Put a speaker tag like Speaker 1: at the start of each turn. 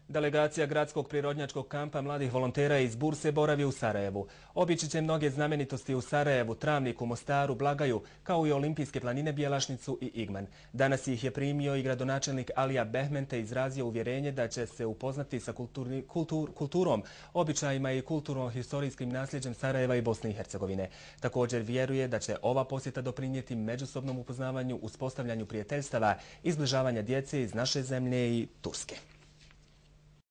Speaker 1: Delegacija Gradskog prirodnjačkog kampa mladih volontera iz Burse boravi u Sarajevu. Obići će mnoge znamenitosti u Sarajevu, Travniku, Mostaru, Blagaju, kao i Olimpijske planine, Bjelašnicu i Igman. Danas ih je primio i gradonačelnik Alija Behmen te izrazio uvjerenje da će se upoznati sa kulturom, običajima i kulturno-historijskim nasljeđem Sarajeva i Bosne i Hercegovine. Također vjeruje da će ova posjeta doprinijeti međusobnom upoznavanju, uspostavljanju prijateljstava i zbližavanja djece iz naše zemlje i Turske.